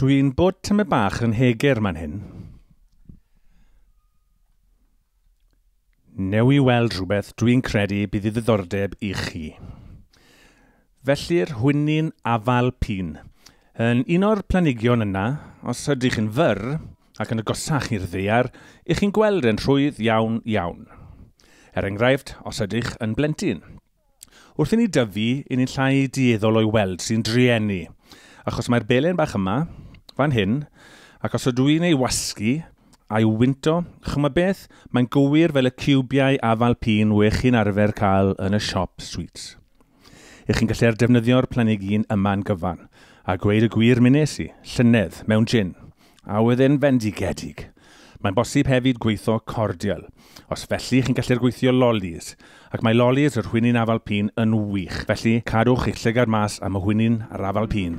Dwi'n bod tymed bach yn heger man hyn. Newi weld rhywbeth dwi'n credu bydd i ddiddordeb i chi. Felly'r hwynyn afal pîn. Yn un o'r planigion yna, os ydych yn fyr ac yn agosach i'r ddaear, ych chi'n gweld yn rhwydd iawn iawn. Er enghraifft, os ydych yn blentyn. Wrth i ni dyfu, i ni'n llai dueddol o'i weld sy'n drueni, achos mae'r belen bach yma, fan hyn, ac os ydw i'n ei wasgu a'i wynto, ch'mo beth, mae'n gywir fel y ciwbiau afal pîn we chi'n arfer cael yn y siop sweets. Ych chi'n gallu defnyddio'r planhigyn yma'n gyfan, a gweud y gwir mi nes i, llynedd, mewn gin, a oedd e'n fendigedig. Mae'n bosib hefyd gweithio cordial. Os felly, chi'n gallu'r gweithio lollies, ac mae lollies yr hwynyn afal pîn yn wych. Felly, cadwch eich llygad mas am y hwynyn a'r afal pîn.